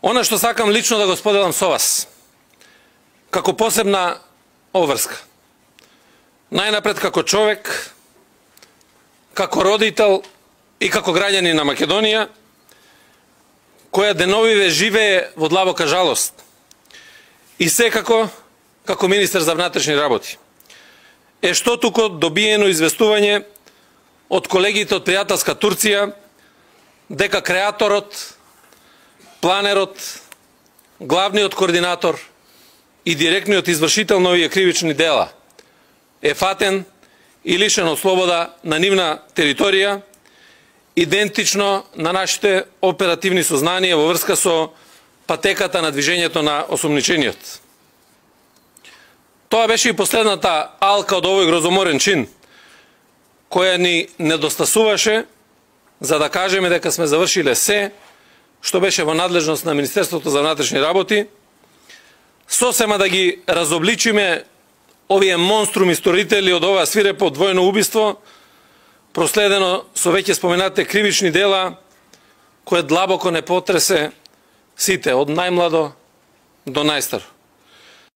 Она што сакам лично да го споделам со вас, како посебна обврска. Најнапред како човек, како родител и како граѓанин на Македонија, која деновиве живее во длабока жалост. И секако, како министер за внатрешни работи, е што туку добиено известување од колегите од пријателска Турција дека креаторот, планерот, главниот координатор и директниот извршител на овие кривични дела е фатен и лишен од слобода на нивна територија, идентично на нашите оперативни сознанија во врска со патеката на движењето на осумничениот. Тоа беше и последната алка од овој грозоморен чин, која ни недостасуваше за да кажеме дека сме завршиле се што беше во надлежност на Министерството за внатрешни работи, сосема да ги разобличиме овие монструми сторители од ова свирепо двојно убиство, проследено со веќе споменатите кривични дела, кое длабоко не потресе сите, од најмладо до најстаро.